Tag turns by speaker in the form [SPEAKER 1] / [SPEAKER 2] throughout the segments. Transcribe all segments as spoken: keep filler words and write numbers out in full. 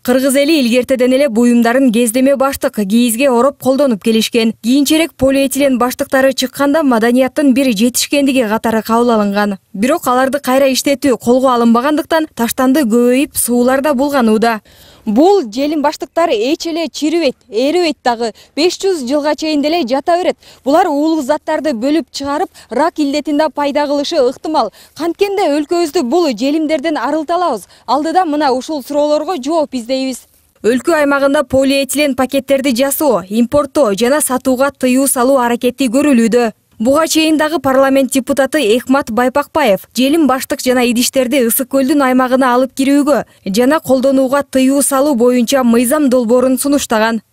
[SPEAKER 1] Кыргыз эли илгертеден эле буюмдарын кездеме баштык кийизге ороп колдонуп келишкен. Кийинчерээк полиэтилен баштыктары чыкканда маданияттын бир жетишкендиги катары кабыл алынган. Бирок аларды кайра иштетүү колго алынбагандыктан таштанды көбөйүп сууларда булганууда. Бул желим баштыктар эч эле чирибейт, эрибейт дагы. беш жүз жылга чейин деле жата берет. Булар уулук заттарды бөлүп чыгарып, рак илдетинде пайда кылышы ыктымал. Канткенде өлкөбүздү бул желимдерден арылталабыз. Алдыда мына ушул суроолорго жооп издейбиз. Өлкө аймагында полиэтилен пакеттерди жасоо, импорттоо жана сатууга тыюу салуу аракети көрүлүүдө. Буга чейин дагы парламент депутаты Эхмат Байпакбаев желим баштык жана идиштерди Ысык көлдүн аймагына алып кирүүгө жана колдонууга тыюу салуу боюнча мыйзам долбоорун сунуштаган.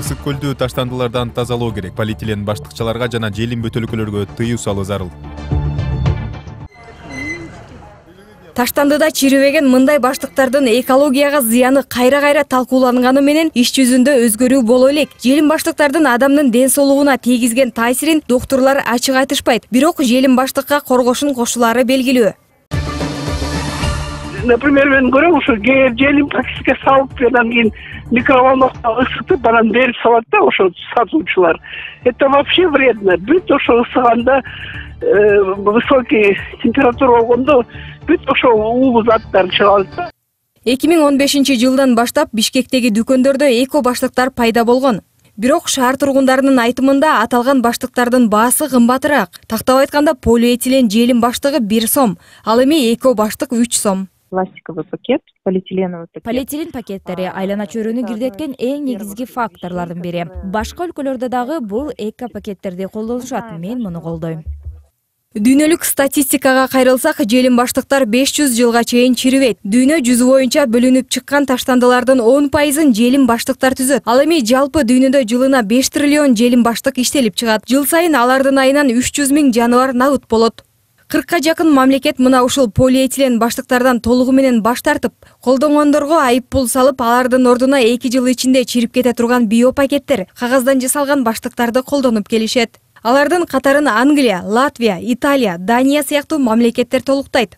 [SPEAKER 2] Ысык көлдү таштандылардан тазалоо керек. Полиэтилен баштыкчаларга жана желим бөтөлкөлөргө тыюу салуу зарыл. Таштандыда чирибеген мындай баштыктардын экологияга зыяны кайра-кайра талкууланганы менен иш жүзүндө өзгөрүү боло элек. Желим баштыктардын адамдын ден соолугуна тийгизген таасирин доктурлар ачык айтышпайт. Бирок желим баштыкка коргошун кошулары белгилүү.
[SPEAKER 3] Например, мен көрөм ошо желим пакетке салып, анан кийин микроволновка ысытып, анан берип салат да ошо сатуучулар. Это вообще вредно. Бүт ошо ысыганда высокий температура болгондо бүт ошо уулуу заттар чыгат да.
[SPEAKER 1] эки миң он бешинчи жылдан баштап Бишкектеги дүкөндөрдө эко баштыктар пайда болгон. Бирок шаар тургундарынын айтымында аталган баштыктардын баасы кымбатыраак. Тактап айтканда полиэтилен желим баштыгы бир сом, ал эми эко баштык үч сом.
[SPEAKER 4] Пластиковый пакет, полиэтиленовый пакет.
[SPEAKER 5] Полиэтилен пакеттери айлана чөйрөнү кирдеткен эң негизги факторлордун бири. Башка өлкөлөрдө дагы бул эко пакеттерди колдонушат. Мен муну колдойм.
[SPEAKER 1] Дүйнөлүк статистикага кайрылсак, желим баштыктар беш жүз жылга чейин чирибейт. Дүйнө жүзү боюнча бөлүнүп чыккан таштандылардын он пайызын желим баштыктар түзөт. Ал эми жалпы дүйнөдө жылына беш триллион желим баштык иштелип чыгат. Жыл сайын алардын айынан үч жүз миң жаныбар набыт болот. кыркка жакын мамлекет мына ушул полиэтилен баштыктардан толугу менен баш тартып, колдонгондорго айып пул салып, алардын ордуна эки жыл ичинде чирип кете турган биопакеттер, кагаздан жасалган баштыктарды колдонуп келишет. Алардын катарын Англия, Латвия, Италия, Дания сыяктуу мамлекеттер толуктайт.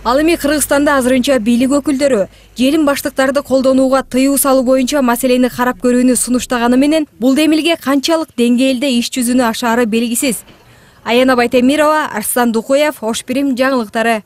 [SPEAKER 1] Ал эми Кыргызстанда азырынча бийлик өкүлдөрү желим баштыктарды колдонууга тыюу салуу боюнча маселени карап көрүүнү сунуштаганы менен бул демилге канчалык деңгээлде иш жүзүнө ашаары белгисиз. Аяна Байтемирова, Арслан Дукуев, Ош Бирим жаңылыктары.